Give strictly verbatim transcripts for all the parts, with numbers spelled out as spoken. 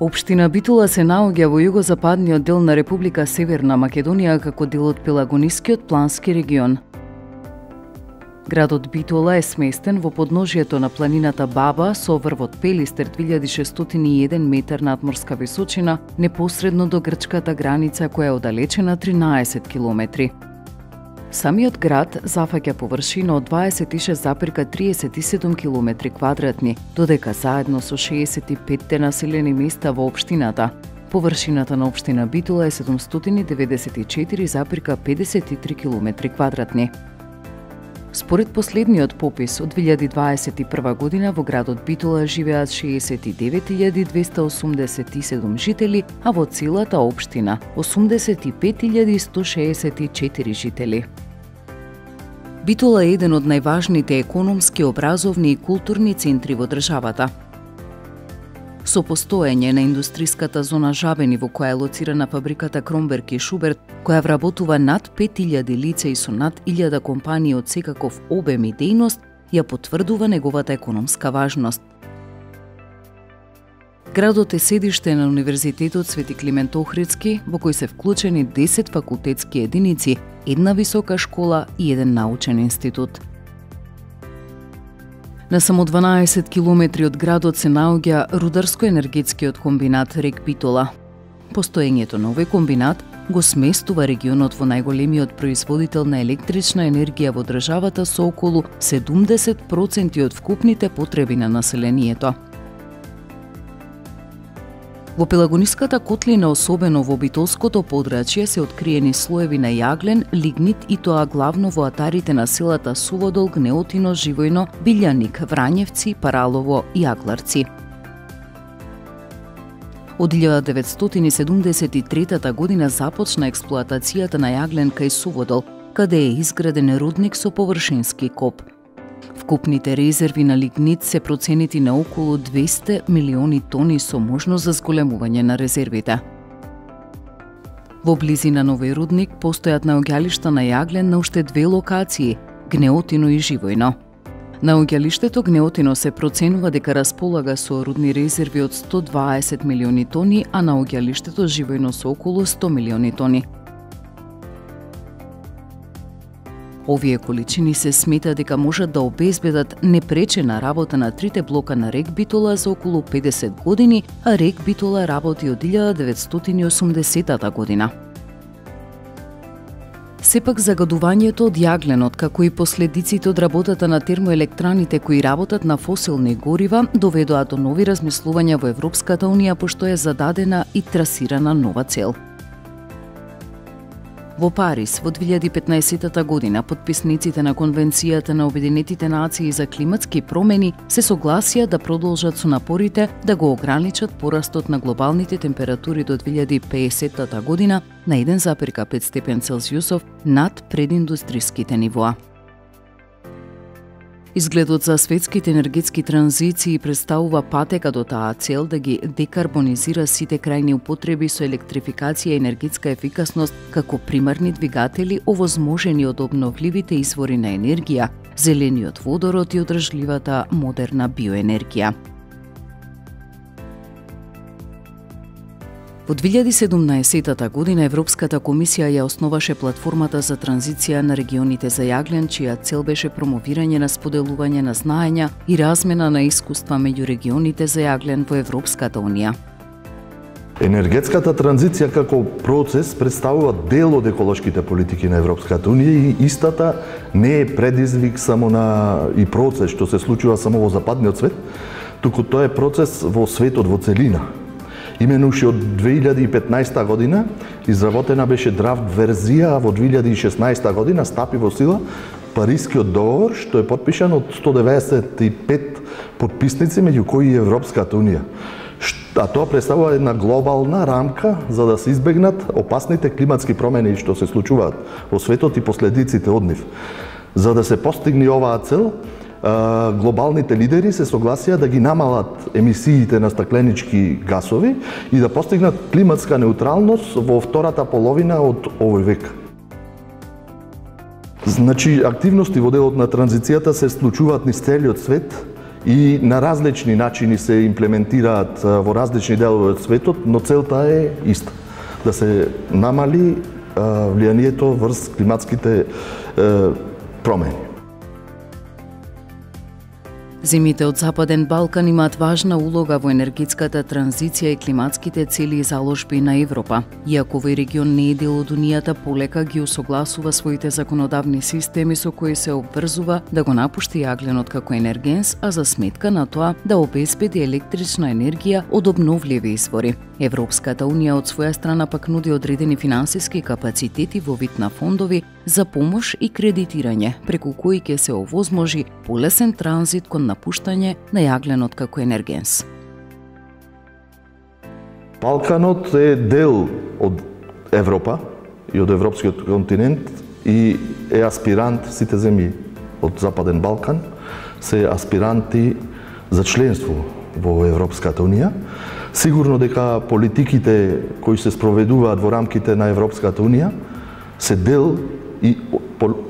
Општина Битола се наоѓа во југозападниот дел на Република Северна Македонија како дел од Пелагонискиот плански регион. Градот Битола е сместен во подножјето на планината Баба со врвот Пелистер две илјади шестстотини и еден метар надморска височина, непосредно до грчката граница која е оддалечена тринаесет километри. Самиот град зафаќа површина од дваесет и шест запирка триесет и седум километри квадратни, додека заедно со шеесет и петте населени места во општината, површината на општина Битола е седумстотини деветдесет и четири запирка педесет и три километри квадратни. Според последниот попис од две илјади дваесет и прва година во градот Битола живеат шеесет и девет илјади двесте осумдесет и седум жители, а во целата општина осумдесет и пет илјади сто шеесет и четири жители. Битола е еден од најважните економски, образовни и културни центри во државата. Со постоење на индустриската зона Жабени во која е лоцирана фабриката Кромберг и Шуберт, која вработува над пет илјади лица и со над илјада компании од секаков обем и дејност, ја потврдува неговата економска важност. Градот е седиште на Универзитетот Свети Климент Охридски, во кој се вклучени десет факултетски единици, една висока школа и еден научен институт. На само дванаесет километри од градот се наоѓа рударско-енергетскиот комбинат Рек Битола. Постоењето на овој комбинат го сместува регионот во најголемиот производител на електрична енергија во државата со околу седумдесет проценти од вкупните потреби на населението. Во Пелагониската котлина, особено во Битолското подрачје, се откриени слоеви на јаглен, лигнит и тоа главно во атарите на селата Суводол, Гнеотино, Живојно, Билјаник, Врањевци, Паралово и Агларци. Од илјада деветстотини седумдесет и трета година започна експлоатацијата на јаглен кај Суводол, каде е изграден рудник со површински коп. Вкупните резерви на лигнит се проценити на околу двесте милиони тони со можност за зголемување на резервите. Во близина на овој рудник постојат наоѓалишта на јаглен на уште две локации – Гнеотино и Живојно. Наоѓалиштето Гнеотино се проценува дека располага со рудни резерви од сто дваесет милиони тони, а наоѓалиштето Живојно со околу сто милиони тони. Овие количини се смета дека можат да обезбедат непречена работа на трите блока на Рек Битола за околу педесет години, а Рек Битола работи од илјада деветстотини и осумдесетата година. Сепак загадувањето од јагленот, како и последиците од работата на термоелектраните кои работат на фосилни горива, доведоа до нови размислувања во Европската унија, пошто е зададена и трасирана нова цел. Во Париз во две илјади и петнаесетата година потписниците на Конвенцијата на Обединетите нации за климатски промени се согласија да продолжат со напорите да го ограничат порастот на глобалните температури до две илјади и педесетата година на еден запирка пет степен Целзиусов над прединдустриските нивоа. Изгледот за светските енергетски транзиции представува патека до таа цел да ги декарбонизира сите крајни употреби со електрификација и енергетска ефикасност како примарни двигатели овозможени од обновливите извори на енергија, зелениот водород и одржливата модерна биоенергија. Во две илјади и седумнаесетата година Европската комисија ја основаше платформата за транзиција на регионите за јаглен, чија цел беше промовирање на споделување на знаења и размена на искуства меѓу регионите за јаглен во Европската унија. Енергетската транзиција како процес представува дел од еколошките политики на Европската унија и истата не е предизвик само на и процес што се случува само во западниот свет, туку тоа е процес во светот во целина. Именно уште од две илјади и петнаесета година изработена беше драфт верзија, а во две илјади и шеснаесета година стапи во сила Парискиот договор, што е потпишан од сто деветдесет и пет потписници, меѓу кои и Европската унија. А тоа представува една глобална рамка за да се избегнат опасните климатски промени што се случуваат во светот и последиците од нив. За да се постигне оваа цел, глобалните лидери се согласија да ги намалат емисиите на стакленички гасови и да постигнат климатска неутралност во втората половина од овој век. Значи, активности во делот на транзицијата се случуваат низ целиот свет и на различни начини се имплементираат во различни делови од светот, но целта е иста. Да се намали влијанието врз климатските промени. Земјите од Западен Балкан имаат важна улога во енергетската транзиција и климатските цели и заложби на Европа. Иако овој регион не е дел од Унијата, полека ги усогласува своите законодавни системи со кои се обврзува да го напушти јагленот како енергенс, а за сметка на тоа да обезбеди електрична енергија од обновливи извори. Европската Унија од своја страна пак нуди одредени финансиски капацитети во вид на фондови за помош и кредитирање, преку кои ќе се овозможи полесен транзит кон напуштање на јагленот како енергенс. Балканот е дел од Европа и од европскиот континент и е аспирант, сите земји од Западен Балкан се аспиранти за членство во Европската Унија. Сигурно дека политиките кои се спроведуваат во рамките на Европската Унија се дел и,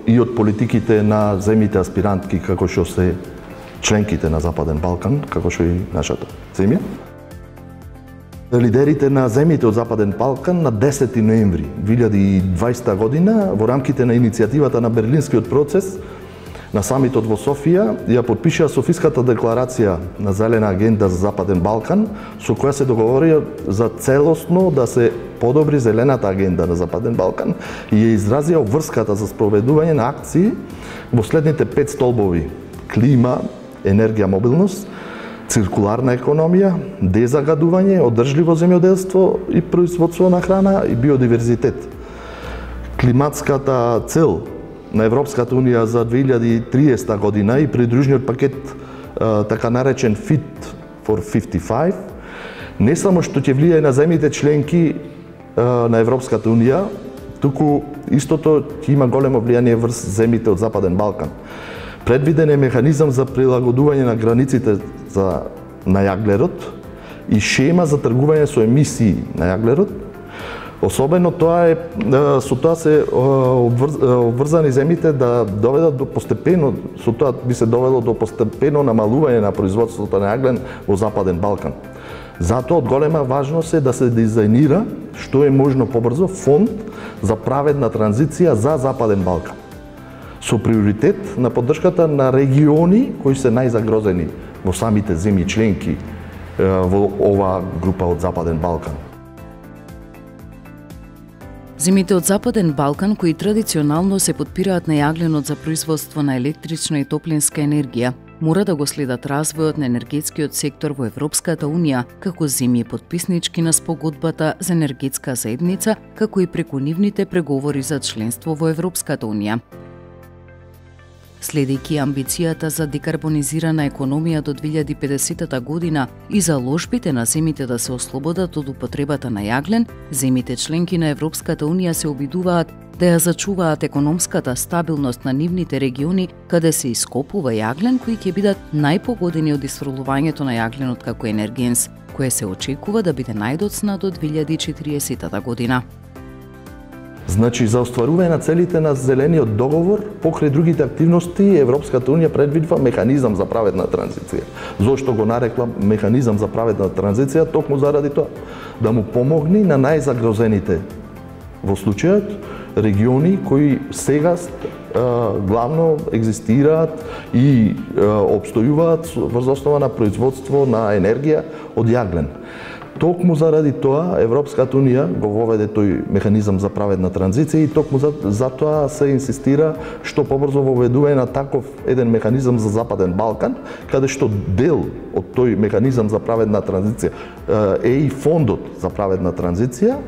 и од политиките на земјите аспирантки како што се членките на Западен Балкан, како што и нашата земја. Лидерите на земјите од Западен Балкан на десети ноември две илјади и дваесета година во рамките на иницијативата на Берлинскиот процес на самитот во Софија ја подпишаа Софиската декларација на Зелена агенда за Западен Балкан, со која се договорија за целосно да се подобри Зелената агенда на Западен Балкан и ја изразија обврската за спроведување на акции во следните пет столбови: клима, енергија, мобилност, циркуларна економија, дезагадување, одржливо земјоделство и производство на храна и биодиверзитет. Климатската цел на Европската Унија за две илјади и триесета година и придружниот пакет така наречен Fit for петдесет и пет не само што ќе влијае на земјите членки на Европската Унија, туку истото ќе има големо влијание врз земјите од Западен Балкан. Предвиден е механизам за прилагодување на границите за на јаглерод и шема за тргување со емисии на јаглерод. Особено тоа е со тоа се обврзани земјите да доведат до постепено, со тоа би се довело до постепено намалување на производството на јаглен во Западен Балкан. Затоа од голема важност е да се дизајнира што е можно побрзо фонд за праведна транзиција за Западен Балкан, со приоритет на поддршката на региони кои се најзагрозени во самите земји членки во оваа група од Западен Балкан. Земјите од Западен Балкан, кои традиционално се подпираат на јагленот за производство на електрична и топлинска енергија, мора да го следат развојот на енергетскиот сектор во Европската Унија како земји подписнички на спогодбата за енергетска заедница, како и преку нивните преговори за членство во Европската Унија. Следејќи амбицијата за декарбонизирана економија до две илјади и педесетата година и заложбите на земјите да се ослободат од употребата на јаглен, земјите членки на Европската Унија се обидуваат да ја зачуваат економската стабилност на нивните региони каде се ископува јаглен, кои ќе бидат најпогодени од исфрлувањето на јагленот како енергенс, кое се очекува да биде најдоцна до две илјади и четириесетата година. Значи, за остварување на целите на Зелениот договор, покрај другите активности, Европската Унија предвидува механизам за праведна транзиција. Зошто го нарекла механизам за праведна транзиција? Токму заради тоа, да му помогне на најзагрозените во случајот региони кои сега главно екзистираат и обстојуваат врз основа на производство на енергија од јаглен. Токму заради тоа Европската Унија го воведе тој механизам за праведна транзиција и токму за, за тоа се инсистира што побрзо воведување на таков еден механизам за Западен Балкан, каде што дел од тој механизам за праведна транзиција е и фондот за праведна транзиција,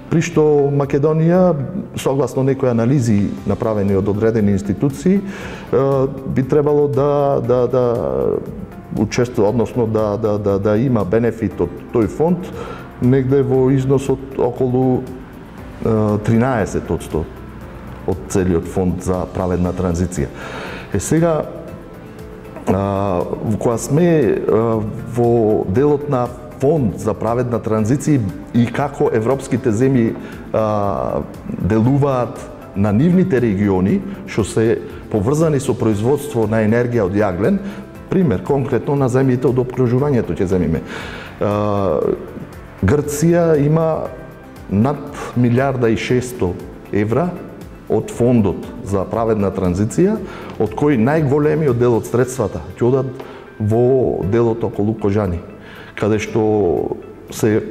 при што Македонија, согласно некои анализи направени од одредени институции, би требало да да да учествува, односно да, да, да, да има бенефит од тој фонд негде во износ од околу тринаесет одсто од целиот фонд за праведна транзиција. Е сега, кога сме во делот на фонд за праведна транзиција и како европските земји делуваат на нивните региони, што се поврзани со производство на енергија од јаглен, пример, конкретно на земјите од опкружувањето ќе земиме. Грција има над милиарда и шестстотини евра од фондот за праведна транзиција, од кој најголемиот дел од средствата ќе одат во делот околу Кожани, каде што се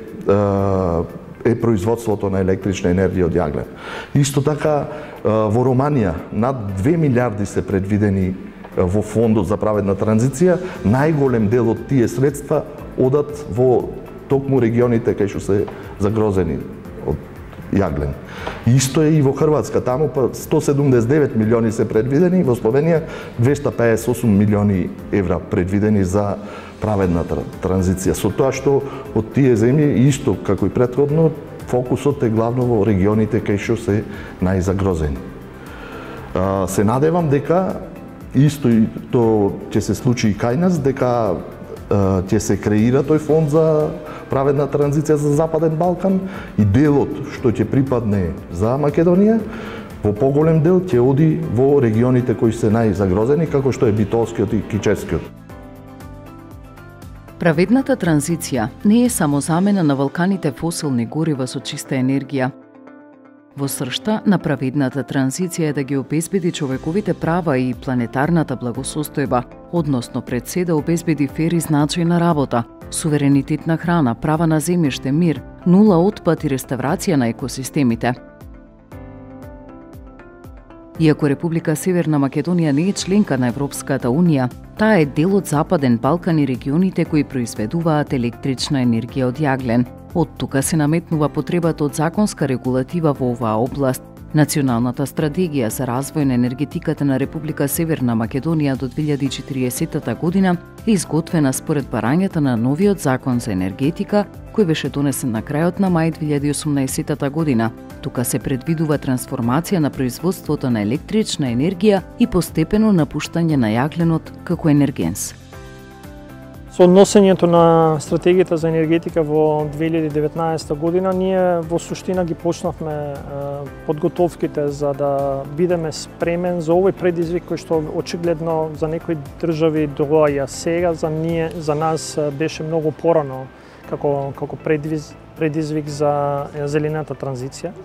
е производството на електрична енергија од јаглен. Исто така во Романија над две милиарди се предвидени во фондот за праведна транзиција, најголем дел од тие средства одат во токму регионите кај што се загрозени од јаглен. Исто е и во Хрватска, таму па сто седумдесет и девет милиони се предвидени, во Словенија двесте пеесет и осум милиони евра предвидени за праведна транзиција. Со тоа што од тие земји, исто како и претходно, фокусот е главно во регионите кај што се најзагрозени. Се надевам дека исто и тоа ќе се случи и кај нас, дека ќе се креира тој фонд за праведна транзиција за Западен Балкан и делот што ќе припадне за Македонија, во поголем дел ќе оди во регионите кои се најзагрозени, како што е Битолскиот и Кичевскиот. Праведната транзиција не е само замена на валканите фосилни горива со чиста енергија. Во сршта на праведната транзиција е да ги обезбеди човековите права и планетарната благосостојба, односно пред се да обезбеди фер и значајна работа, суверенитет на храна, права на земјиште, мир, нула отпад и реставрација на екосистемите. Иако Република Северна Македонија не е членка на Европската Унија, таа е дел од Западен Балкан и регионите кои произведуваат електрична енергија од јаглен. Од тука се наметнува потребата од законска регулатива во оваа област. Националната стратегија за развој на енергетиката на Република Северна Македонија до две илјади и четиридесета година е изготвена според барањата на новиот закон за енергетика, кој беше донесен на крајот на мај две илјади и осумнаесета година. Тука се предвидува трансформација на производството на електрична енергија и постепено напуштање на јагленот како енергенс. Со однесењето на стратегијата за енергетика во две илјади и деветнаесета година, ние во суштина ги почнавме подготовките за да бидеме спремен за овој предизвик кој што очигледно за некои држави доаѓа сега, за ние, за нас беше многу порано како како предизвик за зелената транзиција.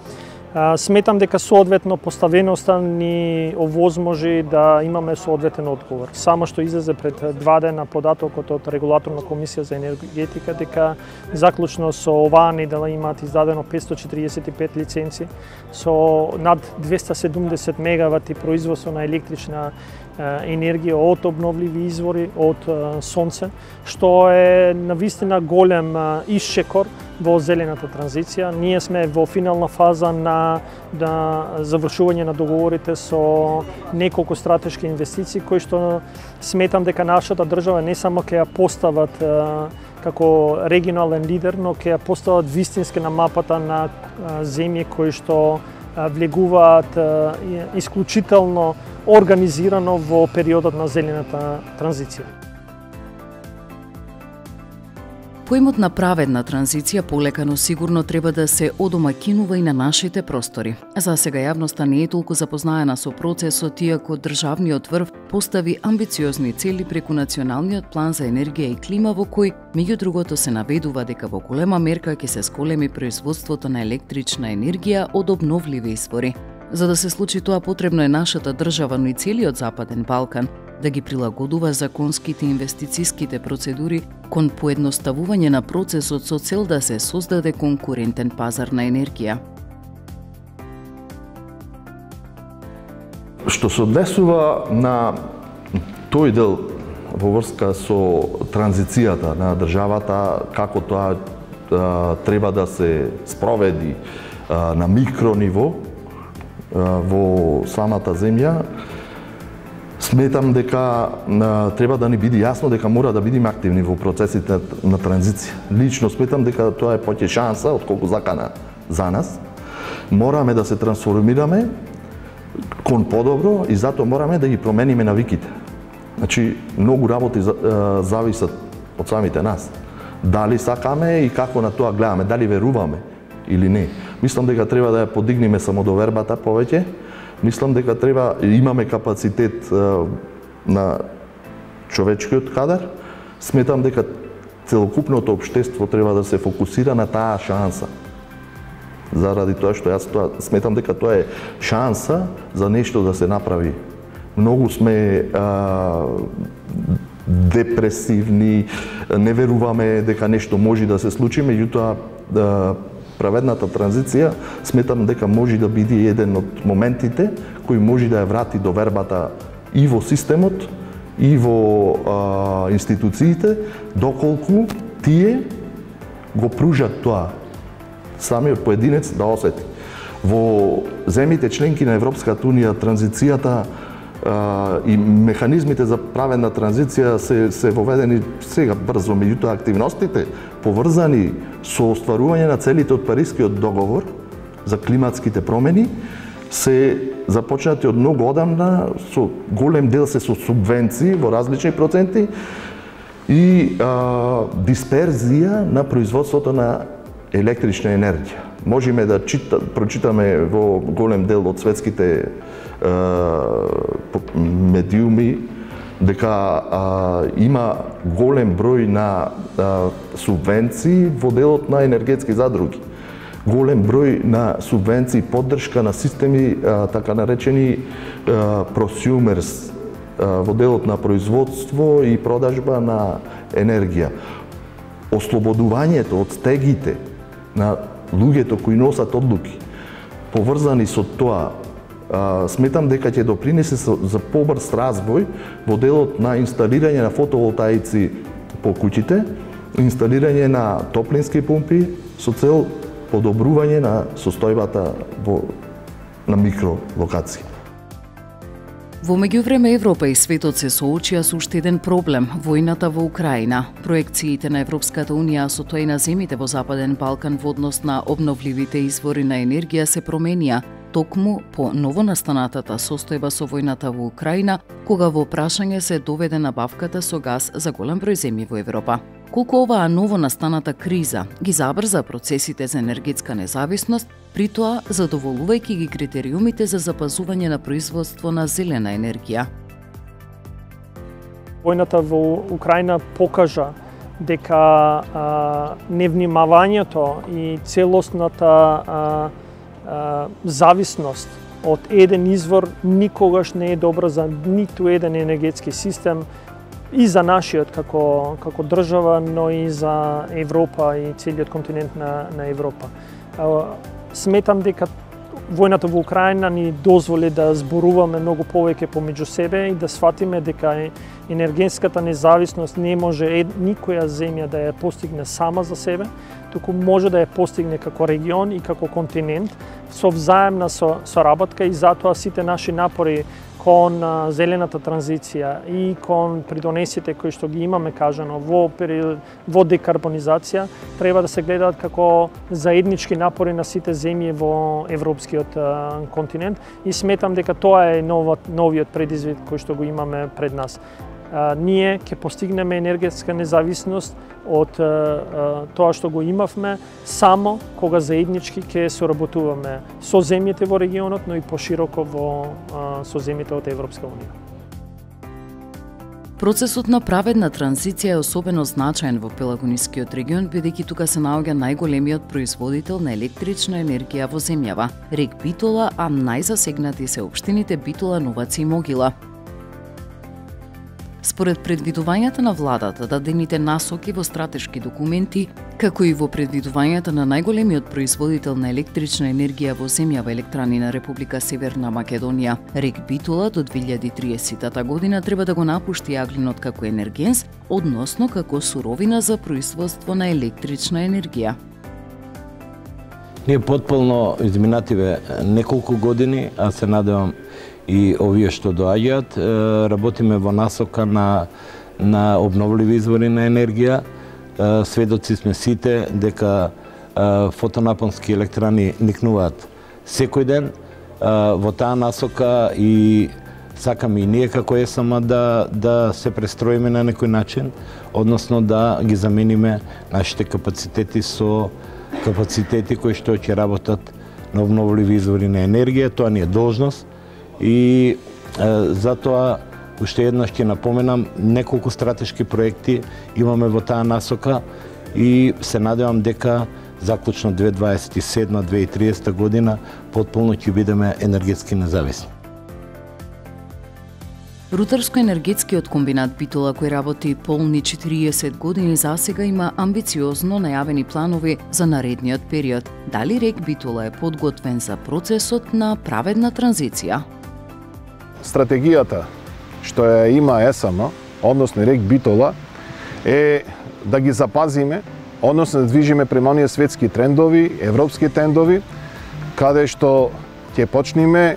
Сметам дека соодветно поставеноста ни овозможи да имаме соодветен одговор. Само што излезе пред два дена податокот од Регулаторна комисија за енергетика дека заклучно со оваа недела имаат издадено петстотини четиридесет и пет лиценци со над двесте и седумдесет мегавати производство на електрична енергија од обновливи извори, од сонце, што е навистина голем исчекор во зелената транзиција. Ние сме во финална фаза на, на завршување на договорите со неколку стратешки инвестиции кои што сметам дека нашата држава не само ќе ја постават како регионален лидер, но ќе ја постават вистински на мапата на земји кои што влегуваат исклучително организирано во периодот на зелената транзиција. Поимот на праведна транзиција полека но сигурно треба да се одомаќинува и на нашите простори. За сега јавноста не е толку запознаена со процесот, иако државниот врв постави амбициозни цели преку Националниот план за енергија и клима, во кој, меѓу другото, се наведува дека во голема мерка ќе се сколеми производството на електрична енергија од обновливи извори. За да се случи тоа, потребно е нашата држава, но и целиот Западен Балкан, да ги прилагодува законските и инвестициските процедури кон поедноставување на процесот со цел да се создаде конкурентен пазар на енергија. Што се однесува на тој дел во врска со транзицијата на државата, како тоа а, треба да се спроведи а, на микрониво а, во самата земја, сметам дека а, треба да ни биде јасно дека мора да бидеме активни во процесите на транзиција. Лично сметам дека тоа е поќе шанса отколку закана за нас. Мораме да се трансформираме кон подобро и затоа мораме да ги промениме навиките. Значи, многу работи зависат од самите нас. Дали сакаме и како на тоа гледаме, дали веруваме или не. Мислам дека треба да ја подигнеме самодовербата повеќе. Мислам дека треба имаме капацитет на човечкиот кадар. Сметам дека целокупното општество треба да се фокусира на таа шанса. Заради тоа што јас тоа сметам дека тоа е шанса за нешто да се направи. Многу сме а, депресивни, не веруваме дека нешто може да се случи, меѓутоа да, праведната транзиција сметам дека може да биде еден од моментите кој може да ја врати довербата и во системот, и во а, институциите, доколку тие го пружат тоа самиот поединец да осети. Во земјите членки на Европската унија транзицијата а, и механизмите за праведна транзиција се, се воведени сега брзо, меѓутоа активностите поврзани со остварување на целите од Парискиот договор за климатските промени се започнати од многу одамна, со голем дел се со субвенции во различни проценти и а, дисперзија на производството на електрична енергија. Можеме да чита, прочитаме во голем дел од светските е, медиуми дека а, има голем број на а, субвенции во делот на енергетски задруги. Голем број на субвенции, поддршка на системи, а, така наречени а, просюмерс, а, во делот на производство и продажба на енергија. Ослободувањето од стегите на луѓето кои носат одлуки, поврзани со тоа, а, сметам дека ќе допринесе за побрз развој во делот на инсталирање на фотоволтаици по куќите, инсталирање на топлински помпи со цел подобрување на состојбата во, на микролокации. Во меѓувреме Европа и светот се соочија со уште еден проблем – војната во Украина. Проекциите на Европската унија, со тоа и на земите во Западен Балкан во однос на обновливите извори на енергија се променија, токму по новонастанатата состојба со војната во Украина, кога во прашање се доведе набавката со газ за голем број земји во Европа. Колку оваа новонастаната криза ги забрза процесите за енергетска независност, при тоа задоволувајќи ги критериумите за запазување на производство на зелена енергија. Војната во Украина покажа дека а, невнимавањето и целосната а, а, зависност од еден извор никогаш не е добра за ниту еден енергетски систем, и за нашиот како, како држава, но и за Европа и целиот континент на, на Европа. Сметам дека војната во Украина ни дозволи да зборуваме многу повеќе помеѓу себе и да сватиме дека енергетската независност не може никоја земја да ја постигне сама за себе, туку може да ја постигне како регион и како континент со взаемна соработка, и затоа сите наши напори кон зелената транзиција и кон придонесите кои што ги имаме кажано во период, во декарбонизација, треба да се гледаат како заеднички напори на сите земји во европскиот континент, и сметам дека тоа е новот, новиот предизвик кој што го имаме пред нас. А, ние ќе постигнеме енергетска независност од а, тоа што го имавме само кога заеднички ќе соработуваме со земјите во регионот, но и пошироко во а, со земјите од Европска унија. Процесот на праведна транзиција е особено значаен во Пелагонискиот регион, бидејќи тука се наоѓа најголемиот производител на електрична енергија во земјава, рек Битола, а најзасегнати се општините Битола, Новаци и Могила. Според предвидувањата на владата, дадените насоки во стратешки документи, како и во предвидувањата на најголемиот производител на електрична енергија во земјава, Електрани на Република Северна Македонија, рек Битола до две илјади и триесетта година треба да го напушти јаглинот како енергенс, односно како суровина за производство на електрична енергија. Ние потполно изминативе неколку години, а се надевам и овие што доаѓаат, работиме во насока на, на обновливи извори на енергија. Сведоци сме сите дека фотонапонски електрани никнуваат секој ден во таа насока, и сакаме и ние како ЕСМ да, да се престроиме на некој начин, односно да ги замениме нашите капацитети со капацитети кои што ќе работат на обновливи извори на енергија. Тоа ни е должност, и е, затоа уште еднаш ќе напоменам, неколку стратешки проекти имаме во таа насока и се надевам дека заклучно две илјади дваесет и седма до две илјади и триесета година потполно ќе бидеме енергетски независни. Рударско-енергетскиот комбинат Битола, кој работи полни четириесет години, засега има амбициозно најавени планови за наредниот период. Дали РЕК Битола е подготвен за процесот на праведна транзиција? Стратегијата што ја има ЕСМ, односно РЕК Битола, е да ги запазиме, односно да движиме према оние светски трендови, европски трендови, каде што ќе почнеме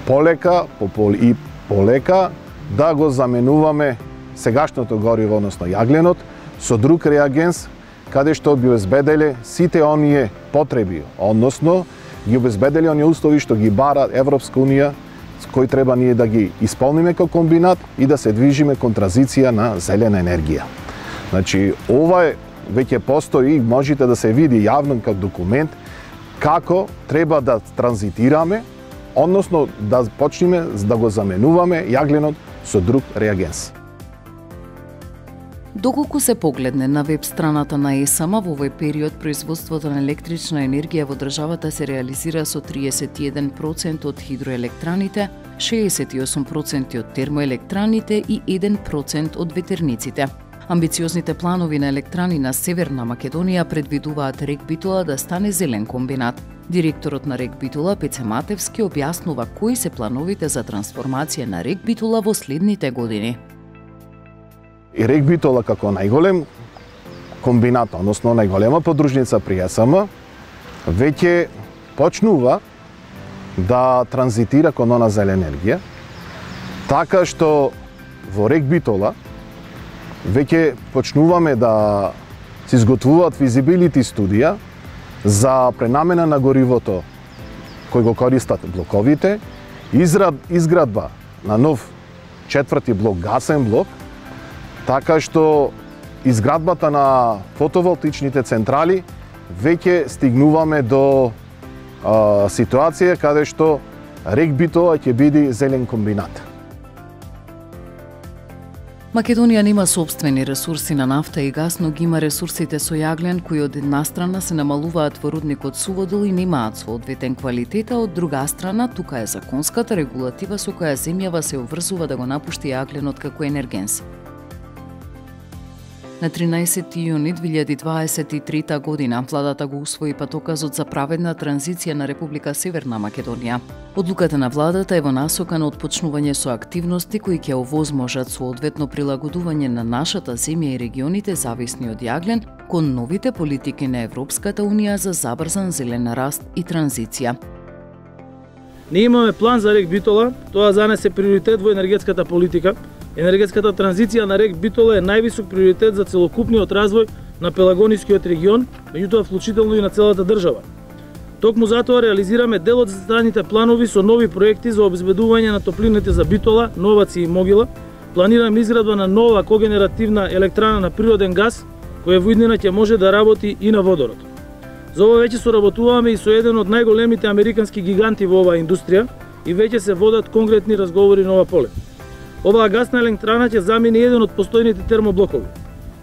полека и полека да го заменуваме сегашното гориво, односно јагленот, со друг реагенс, каде што би обезбеделе сите оние потреби, односно ги обезбеделе оние услови што ги бара Европска унија, кои треба ние да ги исполниме како комбинат и да се движиме кон транзиција на зелена енергија. Значи, ова е веќе постои, можете да се види јавно како документ како треба да транзитираме, односно да почнеме да го заменуваме јагленот со друг реагенс. Доколку се погледне на веб страната на ЕСМ, во овој период производството на електрична енергија во државата се реализира со триесет и еден проценти од хидроелектраните, шеесет и осум проценти од термоелектраните и еден процент од ветерниците. Амбициозните планови на електрани на Северна Македонија предвидуваат РЕК Битола да стане зелен комбинат. Директорот на РЕК Битола Пеце Матевски објаснува кои се плановите за трансформација на РЕК Битола во следните години. И РЕК Битола како најголем комбинат, односно најголема подружница при ЕСМ, веќе почнува да транзитира кон она зелена енергија, така што во РЕК Битола веќе почнуваме да се изготвуваат физибилити студија за пренамена на горивото кој го користат блоковите, израд, изградба на нов четврти блок, гасен блок, така што изградбата на фотоволтичните централи веќе стигнуваме до а, ситуација каде што РЕК Битола ќе биде зелен комбинат. Македонија нема сопствени ресурси на нафта и газ, но ги има ресурсите со јаглен, кои од една страна се намалуваат во рудникот Суводол и немаат соодветен квалитет, а од друга страна тука е законската регулатива со која земјава се обврзува да го напушти јагленот како енергенс. На тринаесети јуни две илјади дваесет и трета година владата го усвои патоказот за праведна транзиција на Република Северна Македонија. Одлуката на владата е во насока на отпочнување со активности кои ќе овозможат соодветно прилагодување на нашата земја и регионите зависни од јаглен кон новите политики на Европската унија за забрзан зелен раст и транзиција. Ние имаме план за РЕК Битола, тоа за нас е приоритет во енергетската политика. Енергетската транзиција на РЕК Битола е највисок приоритет за целокупниот развој на Пелагонискиот регион, меѓутоа вклучително и на целата држава. Токму затоа реализираме дел од зацртаните планови со нови проекти за обезбедување на топлините за Битола, Новаци и Могила. Планираме изградба на нова когенеративна електрана на природен газ, која во иднина ќе може да работи и на водород. За ова веќе соработуваме и со еден од најголемите американски гиганти во оваа индустрија и веќе се водат конкретни разговори на ова поле. Оваа гасна електрана ќе замени еден од постојните термоблокови.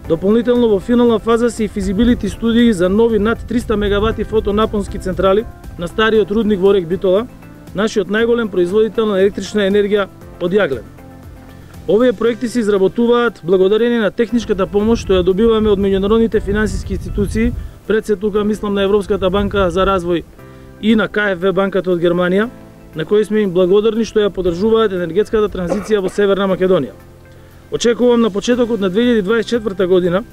Дополнително во финална фаза се и физибилити студии за нови над триста мегавати фотонапонски централи на стариот рудник во РЕК Битола, нашиот најголем производител на електрична енергија од јаглен. Овие проекти се изработуваат благодарение на техничката помош што ја добиваме од меѓународните финансиски институции, пред се тука мислам на Европската банка за развој и на К Ф В банката од Германија, на кои сме им благодарни што ја поддржуваат енергетската транзиција во Северна Македонија. Очекувам на почетокот на две илјади дваесет и четврта година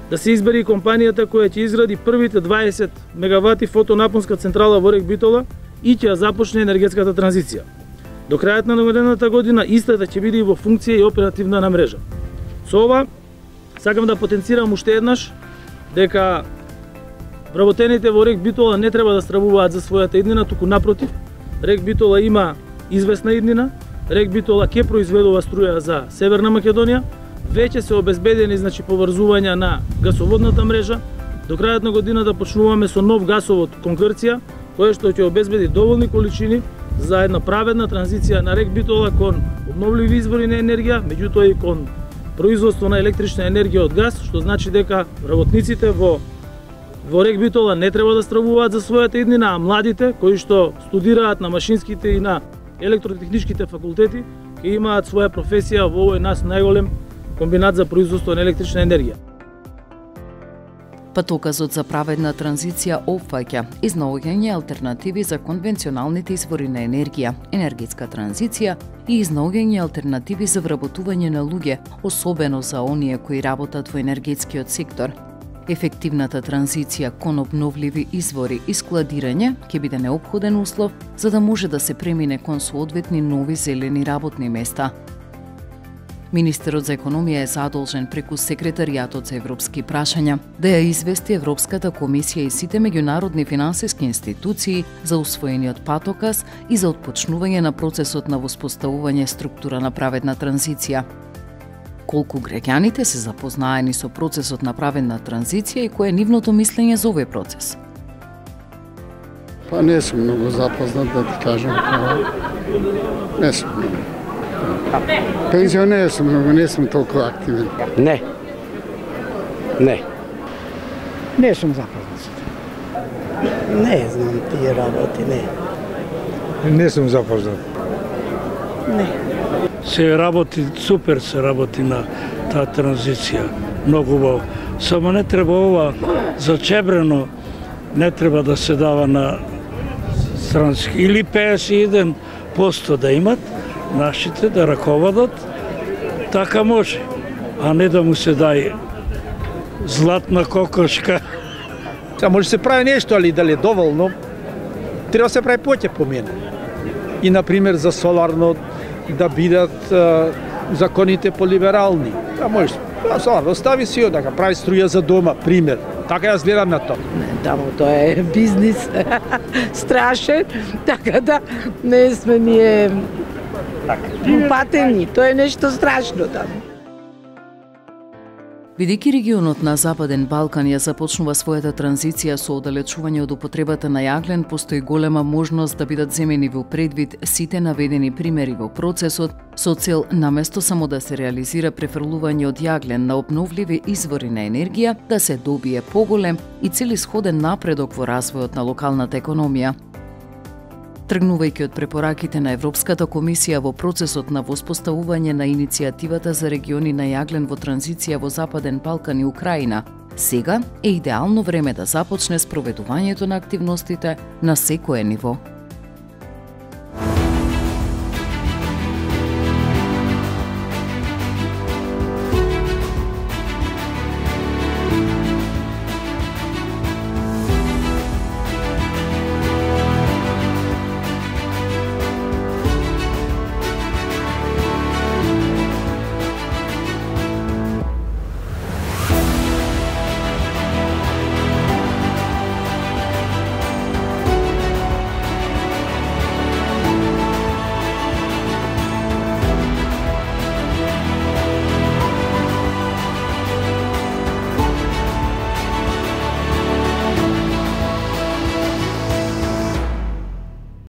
да се избере и компанијата која ќе изгради првите дваесет мегавати фотонапонска централа во РЕК Битола и ќе ја започне енергетската транзиција. До крајот на наведената година истата ќе биде и во функција и оперативна на мрежа. Со ова сакам да потенцирам уште еднаш дека вработените во РЕК Битола не треба да стравуваат за својата иднина, туку напротив, РЕК Битола има известна иднина, РЕК Битола ќе произведува струја за Северна Македонија, веќе се обезбедени значи поврзувања на гасоводната мрежа. До крајот на годината почнуваме со нов гасовод кон Грција, кој што ќе обезбеди доволни количини за една праведна транзиција на РЕК Битола кон обновливи извори на енергија, меѓутоа и кон производство на електрична енергија од газ, што значи дека работниците во во РЕК Битола не треба да стравуваат за својата иднина, а младите кои што студираат на машинските и на електротехничките факултети ќе имаат своја професија во овој нас најголем комбинат за производство на електрична енергија. Патоказот за праведна транзиција опфаќа изнаоѓање алтернативи за конвенционалните извори на енергија, енергетска транзиција и изнаоѓање алтернативи за вработување на луѓе, особено за оние кои работат во енергетскиот сектор. Ефективната транзиција кон обновливи извори и складирање ќе биде неопходен услов за да може да се премине кон соодветни нови зелени работни места. Министерот за економија е задолжен преку Секретаријатот за европски прашања да ја извести Европската комисија и сите меѓународни финансиски институции за усвоениот патоказ и за отпочнување на процесот на воспоставување структура на праведна транзиција. Колку граѓаните се запознаени со процесот на праведна транзиција и кое е нивното мислење за овој процес? Па не сум многу запознат, да ти кажам. Не сум многу. Пензионер сум, многу не сум толку активен. Не. Не. Не сум запознат. Не знам тие работи, не. Не сум запознат. Не. Се работи, супер се работи на таа транзиција. Многу убаво. Само не треба ова зачебрено, не треба да се дава на странски. Или пеесет и еден проценти да имат, нашите да раководат, така може. А не да му се дај златна кокошка. Сега може се прави нешто, али дали е доволно, треба се прави поќе по мене. И, например, за соларно да бидат а, законите полиберални. Да може, а, соларно стави си да прави струја за дома, пример. Така јас гледам на тоа. Тамо тоа е бизнис страшен, така да не сме ние патени, тоа е нешто страшно таму. Бидејќи регионот на Западен Балкан ја започнува својата транзиција со оддалечување од употребата на јаглен, постои голема можност да бидат земени во предвид сите наведени примери во процесот, со цел наместо само да се реализира префрлување од јаглен на обновливи извори на енергија, да се добие поголем и целисходен напредок во развојот на локалната економија. Тргнувајќи од препораките на Европската комисија во процесот на воспоставување на иницијативата за региони на јаглен во транзиција во Западен Балкан и Украина, сега е идеално време да започне спроведувањето на активностите на секое ниво.